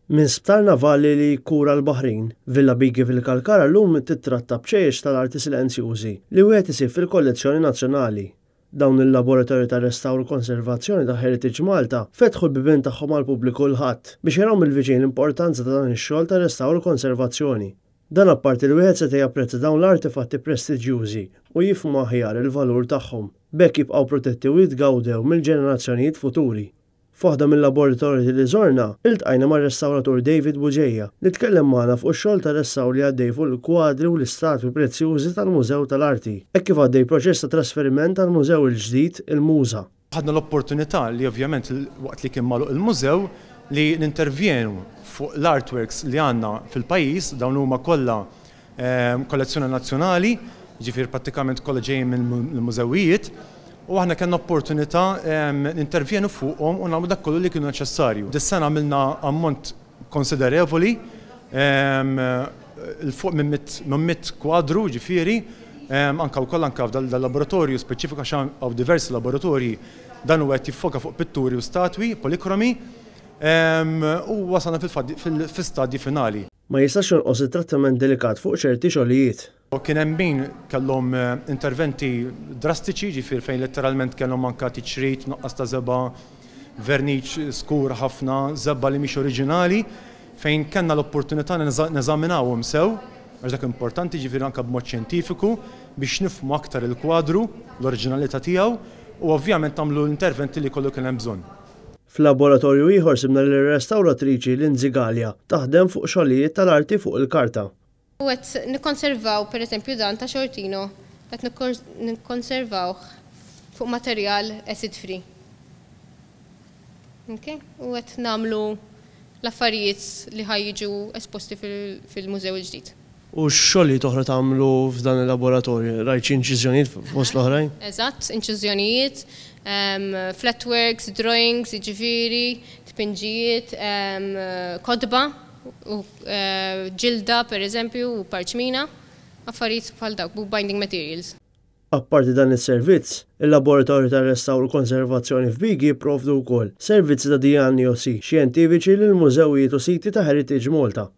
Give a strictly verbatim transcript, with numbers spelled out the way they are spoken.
Minn sptar navali li jkura l-baħrin, Villa Bighi fil-Kalkara llum titratta bċejjeċ tal-arti silenzjużi li wieħed isib fil-kollezzjoni nazzjonali. Dawn il-laboratorju ta' restawr u konservazzjoni ta' Heritage Malta fetħu l-bibien tagħhom għall-pubbliku l-Ħadd biex jaraw mill-viċin l-importanza ta' dan ix-xogħol ta' restawr u konservazzjoni. Dan apparti li wieħed seta' japprezza dawn l-artefatti prestiġjużi u jifhmu aħjar il-valur tagħhom, b'hekk jibqgħu protetti u jitgawdew mill-ġenerazzjonijiet futuri. F'waħda mill-laboratorji li żorna, iltqajna mar-restawratur David Bugeja li tkellem magħna fuq ix-xogħol ta' restawr li għaddej fuq il-kwadri u l-istatwi prezzjużi tal-Mużew tal-Arti, hekk kif għaddej proċess ta' trasferiment tal-mużew il-ġdid, il-MUŻA. Ħadna l-opportunità li ovvjament waqt li kien magħluq il-mużew li nintervjenu fuq l-artworks li għandna fil-pajjiż. Dawn huma kollha ehm, kollezzjoni nazzjonali, ġifier prattikament kollha ġejjin mill-mużewijiet, u aħna kellna opportunità nintervjenu fuqhom u nagħmlu dak kollu li kienu neċessarju. Dis-sena għamilna ammont konsiderevoli, 'il fuq minn mitt kwadru, ġifieri, anka wkoll anka f'dal-laboratorju speċifika, għax hawn diversi laboratorji, dan huwa qed jiffoka fuq pitturi u statwi, polikromi, u wasalna fil-stadji finali. Ma jistax jonqos it-trattament delikat fuq ċerti xogħlijiet. Kien hemm min kellhom interventi drastiċi, ġifier fejn letteralment kellhom anka tiċrit, nuqqas ta' żebgħa, verniċ skur ħafna, żebgħa li mhix oriġinali, fejn kellna l-opportunità neżaminawhom sew, għax dak importanti, ġifier anka b'mod xjentifiku, biex nifhmu aktar il-kwadru, l-oriġinalità tiegħu, u ovvjament nagħmlu l-interventi li kollu kien hemm bżonn. F'laboratorju ieħor sibna lir-restawratriċi Lindsay Galea taħdem fuq xogħlijiet tal-arti fuq il-karta. U qed nikkonservaw pereżempju dan ta' Sciortino, qed nikkonservawh fuq materjal acid free. Okay? U qed nagħmlu l-affarijiet li ħa jiġu esposti fil-mużew il-ġdid. U x'xogħlijiet oħra tagħmlu f'dan il-laboratorju? Rajt xi inċiżjonijiet fost l-oħrajn? Eżatt, inċiżjonijiet, flatworks, drawings, jiġifieri, tpinġijiet, kotba, u ġilda per eżempju, u parċmina, affarijiet bħal dawk, book binding materials. Apparti dan is-servizz, il-laboratorju ta' restawr u konservazzjoni f'Bighi jipprovdu wkoll servizzi ta' dijanjosi xjentifiċi lil mużewijiet u siti ta' Heritage Malta.